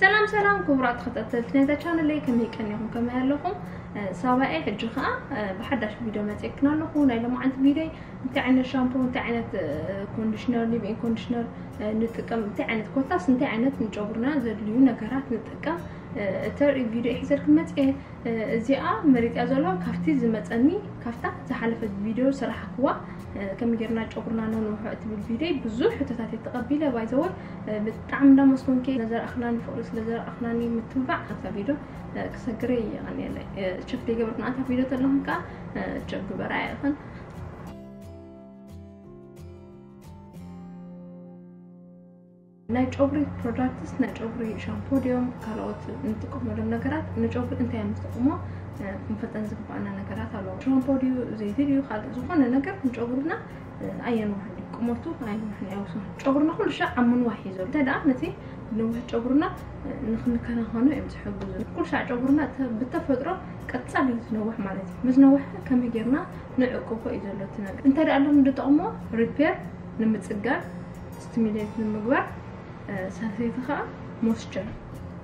ሰላም ሰላም ክቡራት ተኸታተልቲ ናይዛ ቻነለይ፣ ከመይ ቀኒኹም? ከመይ ኣለኹም? ሳባኤ ሕጂ ኸዓ ብሓዳሽ ቪድዮ መፅእክን ኣለኹ። ናይ ሎማዓንቲ ቪድዮ እንታይ ዓይነት ሻምፖ፣ እንታይ ዓይነት ኮንዲሽነር፣ ሊቪን ኮንዲሽነር ንጥቀም፣ እንታይ ዓይነት ኮታስ እንታይ ዓይነት ንጨጉርና ዘድልዩ ነገራት ንጥቀም እተርኢ ቪድዮ ሒዘልክን መፅእ። እዚኣ መሪፅያ ዘሎ ካብቲ ዝመፀኒ፣ ካብታ ዝሓለፈት ቪድዮ ዝሰራሕክዋ፣ ከመይ ጌርና ጨጉርና ነንውሖ እትብል ቪድዮ ብዙሕ ሕቶታት እየ ተቐቢለ። ባይዘወይ ብጣዕሚ እንዳመስገንኩ፣ ስለዘረኣኽናኒ፣ ፍቕሪ ስለዘረኣኽናኒ፣ ምትብባዕ ኣብታ ቪድዮ ክሰግረ እየ። የቐንየለይ። ቸክ ዘይገበርክን ኣታ ቪድዮ ተለኹም ከዓ ቸክ ግበራ ኢኽን። ናይ ጨጉሪ ፕሮዳክትስ፣ ናይ ጨጉሪ ሻምፖ ድዮም ካልኦት እንጥቀመሎም ነገራት ንጨጉሪ እንታይ እዮም ዝጠቕሞ ክንፈልጠን ዝግባኣና ነገራት ኣለዎ። ሻምፖ ድዩ፣ ዘይቲ ድዩ፣ ካልእ ዝኾነ ነገር ንጨጉርና ኣየንውሕን እዩ። ቁመቱ ኣየንውሕን፣ ኣይወስን። ጨጉርና ኩሉ ሻዕ ኣብ ምንዋሕ እዩ ዘሎ። እንታይ ደኣ ነቲ ነዊሕ ጨጉርና ንክንከናኸኖ እዮም ዝሕግዙ። ኩሉ ሻዕ ጨጉርና ብተፈጥሮ ቀጻሊ እዩ ዝነውሕ ማለት እዩ። ምስ ነውሐ ከመይ ጌርና ንዕቅቦ እዩ ዘሎ እቲ ነገር። እንታይ ደኣ ኣለዎም ዝጠቕሞ? ሪፔር ንምጽጋን፣ ስቲሙሌት ንምግባር፣ ሳልሰይቲ ከዓ ሞስቸር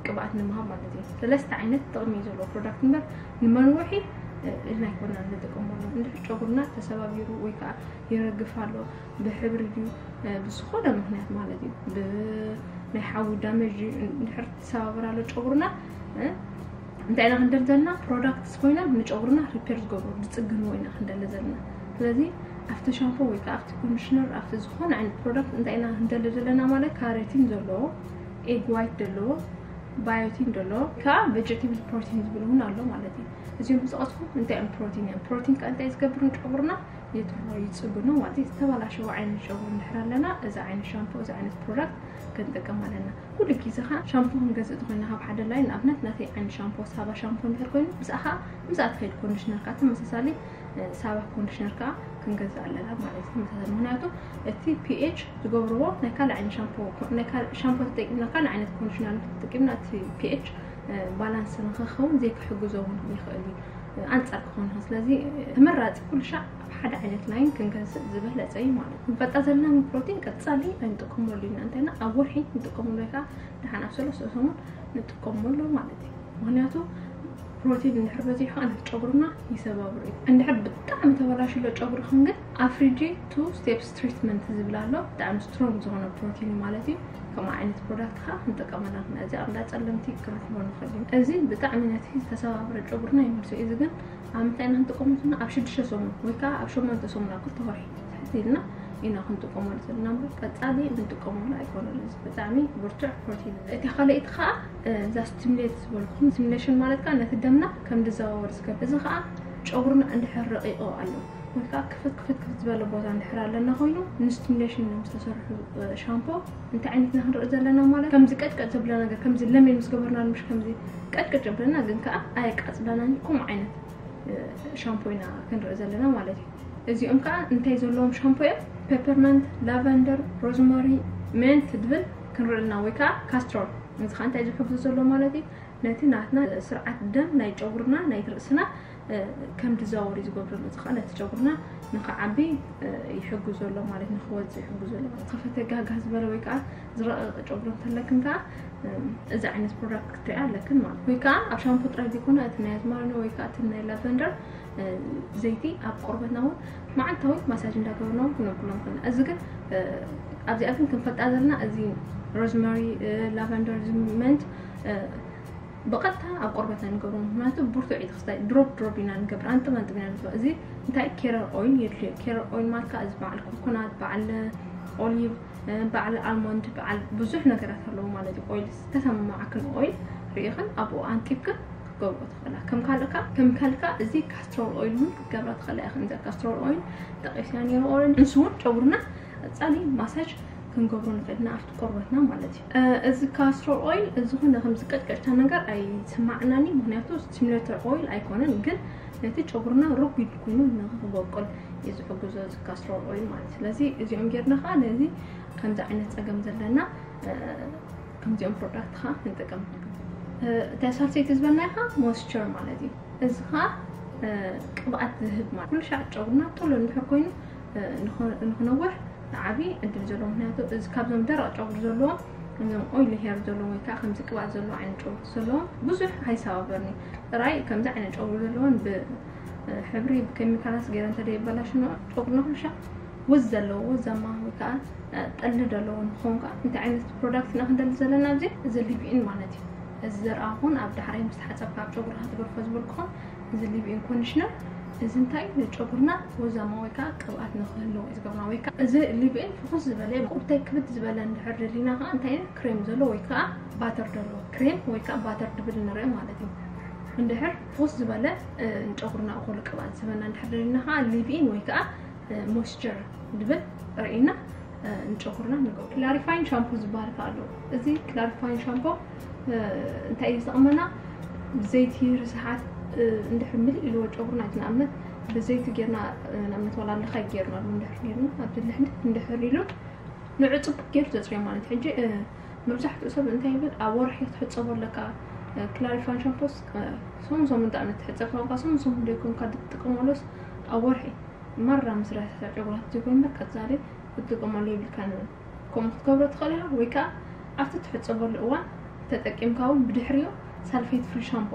ቅብኣት ንምሃብ ማለት እዩ። ሰለስተ ዓይነት ጥቕሚ እዩ ዘለዎ ፕሮዳክት እምበር ንመንውሒ ኢልና ኣይኮናን ንጥቀመሉ። እንድሕር ጨጉርና ተሰባቢሩ ወይ ከዓ ይረግፍ ኣሎ ብሕብሪ ድዩ ብዝኾነ ምክንያት ማለት እዩ፣ ብናይ ሓዊ ዳመጅ እንድሕር ተሰባብር ኣሎ ጨጉርና እንታይ ኢና ክንደሊ ዘለና? ፕሮዳክትስ ኮይና ንጨጉርና ሪፔር ዝገብሩ ዝፅግንዎ ኢና ክንደሊ ዘለና። ስለዚ ኣብቲ ሻምፖ ወይ ከዓ ኣብቲ ኮንዲሽነር ኣብቲ ዝኾነ ዓይነት ፕሮዳክት እንታይ ኢና ክንደሊ ዘለና ማለት ካሮቲን ዘለዎ፣ ኤግ ዋይት ዘለዎ፣ ባዮቲን ዘለዎ፣ ከዓ ቬጀቴብል ፕሮቲን ዝብል እውን ኣሎ ማለት እዩ። እዚኦም ዝጠቐስኩም እንታይ እዮም? ፕሮቲን እዮም። ፕሮቲን ከዓ እንታይ ዝገብር ንጨጉርና? የትርፎ፣ ይፅግኖ ማለት እዩ። ዝተበላሸወ ዓይነት ጨጉሪ እንድሕር ኣለና እዚ ዓይነት ሻምፖ፣ እዚ ዓይነት ፕሮዳክት ክንጥቀም ኣለና። ኩሉ ግዜ ከዓ ሻምፖ ክንገዝእ ተኮይና ካብ ሓደ ላይን፣ ንኣብነት ናተይ ዓይነት ሻምፖ ሳባ ሻምፖ እንድሕር ኮይኑ ምስኣ ከዓ ምስኣ ትኸይድ ኮንዲሽነር ከዓ ተመሳሳሊ ሳባ ኮንዲሽነር ከዓ ክንገዝእ ኣለና ማለት እዩ። ተመሳሳሊ ምክንያቱ እቲ ፒኤች ዝገብርዎ ናይ ካልእ ዓይነት ሻምፖ፣ ናይ ካልእ ሻምፖ ተጠቂምና ካልእ ዓይነት ኮንዲሽነር ተጠቂምና እቲ ፒኤች ባላንስ ንክኸውን ዘይክሕግዞ እውን ይኽእል እዩ። ኣንጻር ክኾን ይኽእል። ስለዚ ተመራጺ ኩሉ ሻዕ ኣብ ሓደ ዓይነት ላይን ክንገዝእ ዝበለጸ እዩ ማለት እዩ። ክንፈልጣ ዘለና ፕሮቲን ቀጻሊ ኣይንጥቀመሉ ኢና። እንተና ኣብ ወርሒ ንጥቀመሉ ወይ ከዓ ደሓን ኣብ ሰለስተ ሰሙን ንጥቀመሉ ማለት እዩ። ምክንያቱ ፕሮቲን እንድሕር በዚሑ ከዓ ነቲ ጨጉርና ይሰባብር እዩ። እንድሕር ብጣዕሚ ተበላሽሎ ጨጉርኽን ግን ኣፍሪጂ ቱ ስቴፕስ ትሪትመንት ዝብል ኣሎ። ብጣዕሚ ስትሮንግ ዝኾነ ፕሮቲን ማለት እዩ። ከምኡ ዓይነት ፕሮዳክት ከዓ ክንጥቀመላ ንኽእል። እዚ ኣብ እንዳ ጸለምቲ ክንረኽቦ ንኽእል እዩ። እዚ ብጣዕሚ ነቲ ዝተሰባበረ ጨጉርና ይመልሶ እዩ። እዚ ግን ኣብ ምንታይ ኢና ክንጥቀመሉ ዘለና? ኣብ ሽዱሽተ ሰሙን ወይ ከዓ ኣብ ሸሞንተ ሰሙን፣ ኣብ ክልተ ወርሒ ትሕት ኢልና ኢና ክንጥቀመሉ ዘለና እምበር ቀጻሊ ንጥቀመሉ ኣይኮነን። እዚ ብጣዕሚ ብርቱዕ ፕሮቲን እዩ። እቲ ካልኣይቲ ከዓ እዛ ስቲሙሌት ዝበልኩም፣ ስቲሙሌሽን ማለት ከዓ ነቲ ደምና ከም ዝዘዋወር ዝገብር። እዚ ከዓ ጨጉርና እንድሕር ረቂቑ ኣሎ ወይ ከዓ ክፍት ክፍት ክፍት ዝበለ ቦታ እንድሕር ኣለና ኮይኑ ንስቲሙሌሽን እዮም ዝተሰርሑ ሻምፖ። እንታይ ዓይነት ኢና ክንርኢ ዘለና ማለት ከምዚ ቀጭቀጭ ዘብለ ነገር፣ ከምዚ ለሜን ምስ ገበርና ምሽ ከምዚ ቀጭቀጭ ዘብለና ግን ከዓ ኣየቃፅለናን እዩ። ከምኡ ዓይነት ሻምፖ ኢና ክንርኢ ዘለና ማለት እዩ። እዚኦም ከዓ እንታይ ዘለዎም ሻምፖ እዮም? ፔፐርመንት፣ ላቨንደር፣ ሮዝመሪ፣ ሜንት ድብል ክንርኢ ኣለና ወይ ከዓ ካስትሮል። እዚ ከዓ እንታይ ዝሕግዙ ዘሎ ማለት እዩ? ነቲ ናትና ስርዓት ደም ናይ ጨጉርና ናይ ርእስና ከም ዝዘዋወር እዩ ዝገብረሉ። እዚ ከዓ ነቲ ጨጉርና ንክዓቢ ይሕግዞ ኣሎ ማለት፣ ንክወፅእ ይሕግዞ ኣሎ ማለት። ከፈተ ጋጋ ዝበለ ወይ ከዓ ዝረቐቐ ጨጉሪ እንተለክን ከዓ እዚ ዓይነት ፕሮዳክት ክትሪኣ ኣለክን ማለት። ወይ ከዓ ኣብ ሻምፖ ጥራይ ዘይኮነ እቲ ናይ ኣዝማሪኖ ወይ ከዓ እቲ ናይ ላቨንደር ዘይቲ ኣብ ቆርበትና እውን መዓልታዊ ማሳጅ እንዳገበርና እውን ክነብሎም ከና። እዚ ግን ኣብዚኣ ግን ክንፈልጣ ዘለና እዚ ሮዝመሪ፣ ላቨንደር፣ ሜንት ብቐጥታ ኣብ ቆርበትና ንገብሮ፣ ምክንያቱ ብርቱዕ እዩ። ክስታይ ድሮፕ ድሮፕ ኢና ንገብር፣ ኣንጥብ ኣንጥብ ኢና ንገብር። እዚ እንታይ ኬረር ኦይል የድልዮ። ኬረር ኦይል ማለት ከዓ እዚ በዓል ኮኮናት፣ በዓል ኦሊቭ፣ በዓል ኣልሞንድ፣ በዓል ብዙሕ ነገራት ኣለዎ ማለት እዩ። ኦይል ዝተሰማማዓክን ኦይል ርኢኽን ኣብኡ ኣንጢብክን ክትገብሮ ትኽእላ። ከም ካልካ ከም ካልካ እዚ ካስትሮል ኦይል እውን ክትገብራ ትኽእላ ኢኽን። እዚ ካስትሮል ኦይል ጠቂስያ ነይሩ ኦረንጅ፣ ንሱ እውን ጨጉርና ቀጻሊ ማሳጅ ክንገብሮ ንኽእል ኢና ኣብቲ ቆርበትና ማለት እዩ። እዚ ካስትሮል ኦይል ዝኾነ ከምዚ ቀጭቀጭታ ነገር ኣይስማዕናን እዩ፣ ምክንያቱ ስቲሙሌተር ኦይል ኣይኮነን፣ ግን ነቲ ጨጉርና ረጒድ ኮይኑ ንክበቁል እዩ ዝሕግዞ እዚ ካስትሮል ኦይል ማለት እዩ። ስለዚ እዚኦም ጌርና ከዓ ነዚ ከምዚ ዓይነት ጸገም ዘለና ከምዚኦም ፕሮዳክት ከዓ ክንጥቀም። እታ ሳልሰይቲ ዝበልና ከዓ ሞይስቸር ማለት እዩ። እዚ ከዓ ቅብኣት ዝህብ ማለት ኩሉ ሻዕ ጨጉርና ቶሎ እንድሕር ኮይኑ ንኽነውሕ ዓቢ ዕድል ዘለዎ፣ ምክንያቱ እዚ ካብዞም ደረቕ ጨጉሪ ዘለዎም እዞም ኦይሊ ሄር ዘለዎም ወይ ከዓ ከምዚ ቅብኣት ዘለዎ ዓይነት ጨጉሪ ዘለዎም ብዙሕ ኣይሰባበርኒ። ጥራይ ከምዚ ዓይነት ጨጉሪ ዘለዎን ብሕብሪ ብኬሚካላት ገይረ እንተደይበላሽኖ ጨጉርና ኩልሻ ወዝ ዘለዎ ወዛማ ወይ ከዓ ጠሊ ዘለዎ ንኸውን ከዓ እንታይ ዓይነት ፕሮዳክት ኢና ክንደሊ ዘለና ኣብዚ እዚ ሊቪን ማለት እዩ። እዚ ዘርኣ ኹን ኣብ ዳሕራይ ምስ ተሓፀብካ ኣብ ጨጉርካ ትገርፎ ዝበልኩኹም እዚ ሊቪን ኮንዲሽነር እዚ እንታይ ንጨጉርና ወዛማ ወይ ከዓ ቅብኣት ንክህልዎ እዩ ዝገብርና ወይ ከዓ እዚ ሊቪን ፍኹስ ዝበለ ቁብታይ ክብድ ዝበለ እንድሕር ደሊና ከዓ እንታይ ክሬም ዘሎ ወይ ከዓ ባተር ደሎ ክሬም ወይ ከዓ ባተር ድብል ንርኢ ማለት እዩ። እንድሕር ፍኹስ ዝበለ ንጨጉርና እኮሉ ቅብኣት ዝበና እንድሕር ደሊና ከዓ ሊቪን ወይ ከዓ ሞይስቸር ድብል ርኢና ንጨጉርና ንገብሮ። ክላሪፋይን ሻምፖ ዝበሃል ከ ኣሎ። እዚ ክላሪፋይን ሻምፖ እንታይ እዩ ዝጠቕመና? ብዘይቲ ርስሓት እንድሕር ምልእ ኢልዎ ጨጉርና እቲ ንኣብነት ብዘይቲ ጌርና ንኣብነት ዋላ ኣለኻይ ጌርና እንድሕር ጌርና ኣብቲ ልሕልፍ እንድሕር ኢሉ ንዑ ጽቡቅ ጌሩ ዘጽርዮ ማለት ሕጂ መብዛሕትኡ ሰብ እንታይ ይብል ኣብ ወርሒ ክትሕጸቦ ኣለካ። ክላሪፋን ሻምፖስ ሰሙን ሰሙን ጣዕሚ ትሕጸብ ካብካ ሰሙን ሰሙን ደይኮንካ ትጥቀመሎስ ኣብ ወርሒ ማራ ምስ ረሰሐ ጨጉራ ዘይኮን እምበር ቀጻሊ ክትጥቀመሉ የብልካ ንብል። ከምኡ ክትገብሮ ትኽእል ኢኻ ወይ ከዓ ኣብቲ ትሕጸበሉ እዋን ተጠቂምካ እውን ብድሕሪኡ ሳልፌት ፍሪ ሻምፖ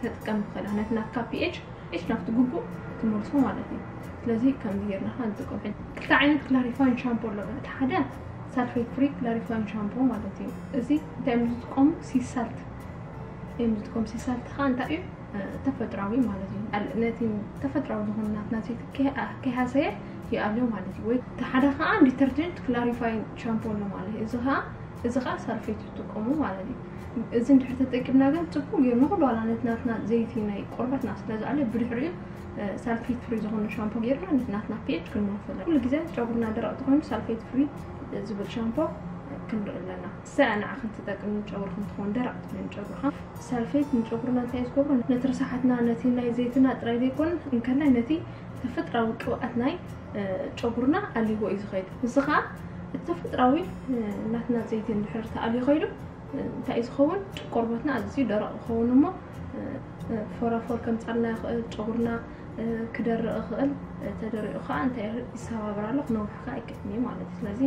ተጥቀም ትኽእል ኢኻ ነቲ ናትካ ፒኤች ፒኤች ናብቲ ግቡእ ትመልሶ ማለት እዩ። ስለዚ ከምዚ ጌርና ከዓ ንጥቀም። ክልተ ዓይነት ክላሪፋይን ሻምፖ ኣሎ። እቲ ሓደ ሳልፌት ፍሪ ክላሪፋይን ሻምፖ ማለት እዩ። እዚ እንታይ እዮም ዝጥቀሙ? ሲሳልት እዮም ዝጥቀሙ። ሲሳልት ከዓ እንታይ እዩ? ተፈጥራዊ ማለት እዩ። ነቲ ተፈጥራዊ ዝኾነ ናትና ዘይቲ ከይሃሰየ ይኣልዮ ማለት እዩ። ወይ እቲ ሓደ ከዓ ዲተርጀንት ክላሪፋይን ሻምፖ ኣሎ ማለት እዩ። እዚ ከዓ እዚ ከዓ ሳልፌት ትጥቀሙ ማለት እዩ። እዚ እንድሕር ተጠቂምና ግን ፅቡቅ ገይሩ ንኩሉ ዋላ ነቲ ናትና ዘይቲ ናይ ቆርበትና ስለ ዝኣልዮ ብድሕሪኡ ሳልፌት ፍሪ ዝኾነ ሻምፖ ገይርና ነቲ ናትና ፒኤች ክንመልሶ ኣለና። ኩሉ ግዜ ጨጉርና ደረቕ ተኾይኑ ሳልፌት ፍሪ ዝብል ሻምፖ ክንርኢ ኣለና። እሳ ንዓኽን ትጠቅም ንጨጉርኽን ትኸውን ደረቕ ትብል ንጨጉርኻ። ሳልፌት ንጨጉርና እንታይ ዝገብሮ ነቲ ርሳሓትና ነቲ ናይ ዘይትና ጥራይ ዘይኮነ እንከላይ ነቲ ተፈጥራዊ ቅብኣት ናይ ጨጉርና ኣልይዎ እዩ ዝኸይድ። እዚ ከዓ እቲ ተፈጥራዊ ናትና ዘይቲ እንድሕር ተኣልዩ ከይዱ እንታይ እዩ ዝኸውን? ቆርበትና ኣዝዩ ደረቕ ይኸውን እሞ ፎራፎር ከምፃልና ይኽእል፣ ጨጉርና ክደርቕ ይኽእል። ተደሪቑ ከዓ እንታይ ይሰባበር ኣሎ ክነውሕ ከዓ ይክእል እዩ ማለት እዩ። ስለዚ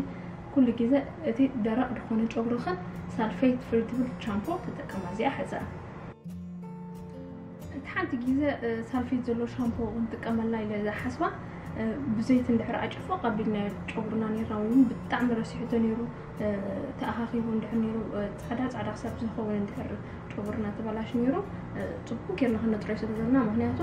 ኩሉ ግዜ እቲ ደረቕ ዝኾነ ጨጉርኽን ሳልፌት ፍሪ ትብል ሻምፖ ተጠቀማ። እዚኣ ሕፀ እቲ ሓንቲ ግዜ ሳልፌት ዘሎ ሻምፖ ክንጥቀመላ ኢለ ዝሓስባ ብዘይቲ እንድሕር ኣጭፎ ቀቢልና ጨጉርና ነርና ወይ ብጣዕሚ ረሲሕቶ ነይሩ ተኣኻኺቡ እንድሕር ነይሩ ፃዕዳ ፃዕዳ ክሳብ ዝኸውን እንድሕር ጨጉርና ተበላሽ ነይሩ ፅቡቅ ጌርና ክነፅርዮ ስለ ዘለና። ምክንያቱ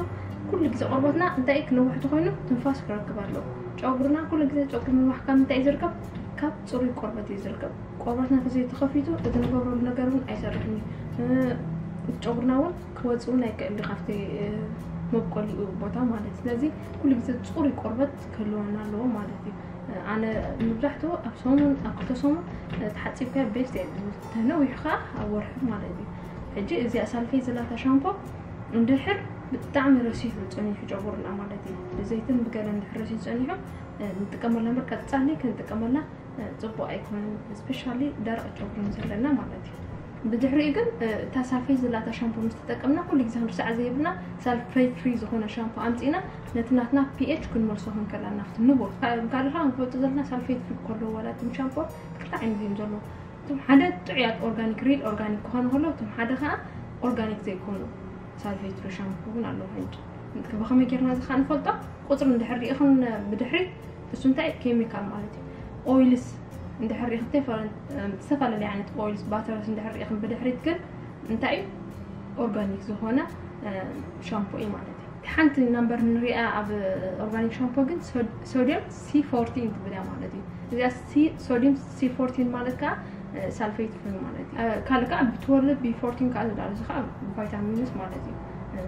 ኩሉ ግዜ ቆርበትና እንታይ ክነውሕ ተኮይኑ ትንፋስ ክረክብ ኣለዎ። ጨጉርና ኩሉ ግዜ ጨጉሪ ምንዋሕ ካብ ምንታይ እዩ ዝርከብ? ካብ ፅሩይ ቆርበት እዩ ዝርከብ። ቆርበትና ተዘይተኸፊቱ እቲ ንገብረሉ ነገር እውን ኣይሰርሕን እዩ። ጨጉርና እውን ክወፅ እውን ኣይክእል ካብቲ መብቆሊኡ ቦታ ማለት። ስለዚ ኩሉ ግዜ ፅሩይ ቆርበት ክህልወና ኣለዎ ማለት እዩ። ኣነ መብዛሕትኡ ኣብ ሰሙን ኣብ ክልተ ሰሙን ተሓፂብካ ቤስት እየ። ተነዊሑ ከዓ ኣብ ወርሒ ማለት እዩ። ሕጂ እዚኣ ሳልፌት ዘላታ ሻምፖ እንድሕር ብጣዕሚ ረሲሑ ፀኒሑ ጨጉርና ማለት እዩ። ብዘይትን ብገለ እንድሕር ረሲሑ ፀኒሑ ንጥቀመላ እምበር ቀፃሊ ክንጥቀመላ ፅቡቅ ኣይኮነን። ስፔሻሊ ደረቅ ጨጉሪ ምስ ዘለና ማለት እዩ። ብድሕሪኡ ግን እታ ሳልፌት ዘላታ ሻምፖ ምስ ተጠቀምና ኩሉ ግዜ ክንርሳዕ ዘይብልና ሳልፌት ፍሪ ዝኾነ ሻምፖ ኣምፂና ነቲ ናትና ፒኤች ክንመልሶ ክንከላ ናብቲ ንቡር ካልኻ ክንፈልጡ ዘለና ሳልፌት ፍሪ ከለዎ ዋላ እቶም ሻምፖ ክልተ ዓይነት እዮም ዘለዎ። እቶም ሓደ ጥዑያት ኦርጋኒክ ሪል ኦርጋኒክ ክኾኑ ከለዉ እቶም ሓደ ከዓ ኦርጋኒክ ዘይኮኑ ሳልፌት ፍሪ ሻምፖ እውን ኣለዉ። ሕጂ ብኸመይ ጌርና እዚ ከዓ ንፈልጦ? ቁፅሪ እንድሕር ሪኢኽን ብድሕሪ እሱ እንታይ ኬሚካል ማለት እዩ። ኦይልስ እንድሕር ሪኢኽን ዝተፈላለዩ ዓይነት ኦይልስ ባተርስ እንድሕር ሪኢኽን ብድሕሪት ግን እንታይ እዩ ኦርጋኒክ ዝኾነ ሻምፖ እዩ ማለት እዩ። ሓንቲ ናምበር ንሪኣ ኣብ ኦርጋኒክ ሻምፖ ግን ሶዲየም ሲ ፎርቲን ትብል እያ ማለት እዩ። እዚኣ ሶዲየም ሲ ፎርቲን ማለት ከዓ ሳልፌት ፍሪ ማለት እዩ። ካልእ ከዓ ቢ ትወልቭ ቢ ፎርቲን ከዓ ዝዳሉ እዚ ከዓ ቫይታሚንስ ማለት እዩ።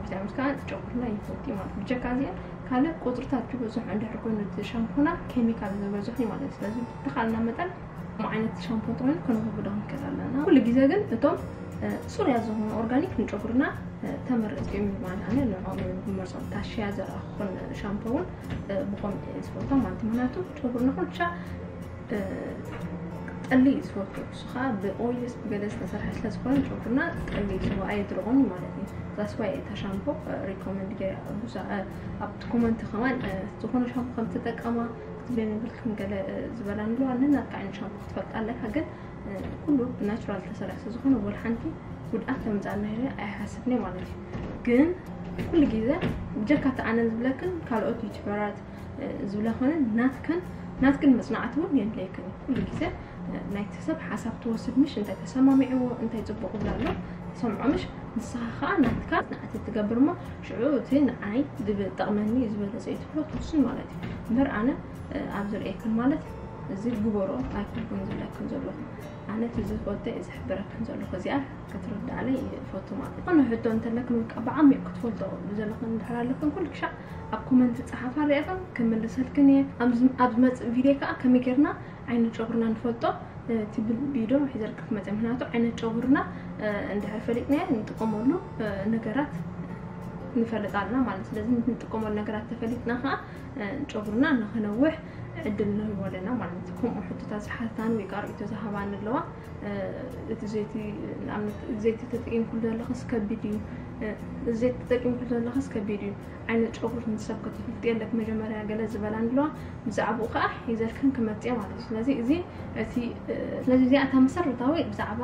ቪታሚንስ ከዓ ጨጉርና ይፈቲ ማለት እዩ። ብጀካ እዚኣ ካልእ ቁፅርታት ዝበዝሑ እንድሕር ኮይኑ እቲ ሻምፖና ኬሚካል ዝበዝሑ ማለት እዩ። ስለዚ ብተኻልና መጠን ከም ዓይነት ሻምፖ እንተኾይኑ ከነወግዶ ክንክእል ኣለና። ኩሉ ግዜ ግን እቶም ፅሩያት ዝኾኑ ኦርጋኒክ ንጨጉርና ተመረፅቲ እዮም ማለት ኣነ ንዕኦም እዮም ዝመርፆም። ታሽያ ዘርኣ ክኾን ሻምፖ እውን ብኸምኡ እየ ዝፈቶ ማለት እዩ። ምክንያቱ ጨጉርና ኩልሻ ጠሊ እዩ ዝፈቱ። እሱ ከዓ ብኦይልስ ብገለ ዝተሰርሐ ስለ ዝኾነ ጨጉርና ጠሊ እዩ ዝፈ ኣየድርቆን ማለት እዩ። ዛስዋይ እታ ሻምፖ ሪኮመንድ ገይረ ብዙ ኣብቲ ኮመንት ከማን ዝኾነ ሻምፖ ከም ትጠቀማ ክትብለኒ ብልክም ገለ ዝበላ ንለዋ ነናትካ ዓይነት ሻምፖ ክትፈልጣ ኣለካ ግን ኩሉ ብናቹራል ተሰሪሑ ስለዝኾነ ወላ ሓንቲ ጉድኣት ተምፃልና ኢለ ኣይሓስብን ማለት እዩ። ግን ኩሉ ግዜ ብጀካ እቲ ኣነ ዝብለክን ካልኦት ዩቲበራት ዝብላ ኮነ ናትከን ናትክን መፅናዕቲ እውን የድለየክን እዩ። ኩሉ ግዜ ናይቲ ሰብ ሓሳብ ትወስድ ምሽ እንታይ ተሰማሚዕዎ እንታይ ፅቡቅ ዝብላ ኣሎ ተሰምዖ ምሽ ንስኻ ከዓ ናትካ መፅናዕቲ ትገብር እሞ ሽዑ እቲ ንዓይ ዝጠቕመኒ ዝበለፀ እዩ ትብሎ ትውስን ማለት እዩ። እምበር ኣነ ኣብ ዝርእየክን ማለት እዚ ግበሮ ኣይኮንኩን ዝብለክን ዘለኹ። ኣነ እቲ ዝፈልጦ እየ ዝሕብረክን ዘለኹ። እዚኣ ክትርዳእለይ ይፈቱ ማለት እዩ። ዝኾነ ሕቶ እንተለክን ወይ ከዓ ብዓሚቕ ክትፈልጦ ዘለኽን እንድሕር ኣለክን ኩሉ ክሻዕ ኣብ ኮመንት ፀሓፋ ሪእኽን ክምልሰልክን እየ። ኣብ ዝመፅእ ቪድዮ ከዓ ከመይ ጌርና ዓይነት ጨጉርና ንፈልጦ ትብል ቪድዮ ሒዘልካ ክመፀ። ምክንያቱ ዓይነት ጨጉርና እንድሕር ፈሊጥናዮ ንጥቀመሉ ነገራት ንፈልጥ ኣለና ማለት። ስለዚ ንጥቀመሉ ነገራት ተፈሊጥና ከዓ ጨጉርና ንክነውሕ ዕድል ንህቦ ኣለና ማለት እዩ። ከምኡ ሕቶታት ዝሓታኒ ወይ ከዓ ርእይቶ ዝሃባኒ ኣለዋ። እቲ ዘይቲ ንኣብነት ዘይቲ ተጠቂምኩሉ ዘለኽስ ከቢድ እዩ፣ ዘይቲ ተጠቂምኩሉ ዘለኽስ ከቢድ እዩ። ዓይነት ጨጉር ንሰብ ክትፍልጥ የለክ መጀመርያ ገለ ዝበላ ኣለዋ። ብዛዕባኡ ከዓ ሒዘልክን ክመፅእ ማለት እዩ። ስለዚ እዚ እቲ ስለዚ እዚኣ እታ መሰረታዊ ብዛዕባ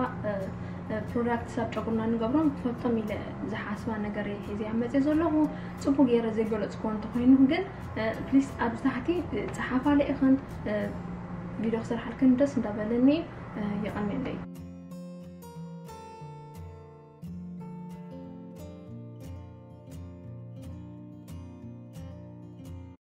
ፕሮዳክት ሳብ ጨጉርና ንገብሮም ክፈልጦም ኢለ ዝሓስባ ነገር እየ ሒዘያ መፅእ ዘለኹ። ፅቡቅ ገይረ ዘይገለፅክዎ እንተኮይኑ ግን ፕሊስ ኣብዚ ታሕቲ ፀሓፋ ለኢኽን ቪድዮ ክሰርሓልክን ደስ እንዳበለኒ እዩ።